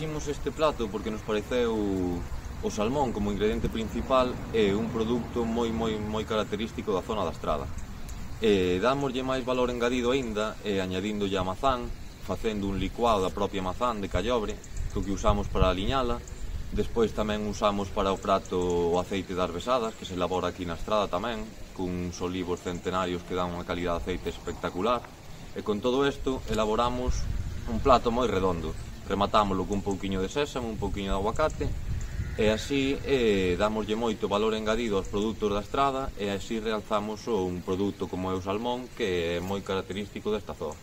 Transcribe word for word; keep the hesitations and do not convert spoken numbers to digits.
Eliximos este plato porque nos pareceu o salmón como ingrediente principal é un produto moi moi moi característico da zona da Estrada. E dámoslle máis valor engadido aínda e añadíndolle a mazán, facendo un licuado da propia mazán de callobre, que que usamos para aliñala. Despois tamén usamos para o prato o aceite das besadas, que se elabora aquí na Estrada tamén, cuns olivos centenarios que dan unha calidad de aceite espectacular. E con todo isto elaboramos un plato moi redondo. Rematámoslo cun pouquiño de sésamo, un pouquiño de aguacate, e así eh, damoslle moito valor engadido aos produtos da Estrada e así realzamos un produto como é o salmón que é moi característico desta zona.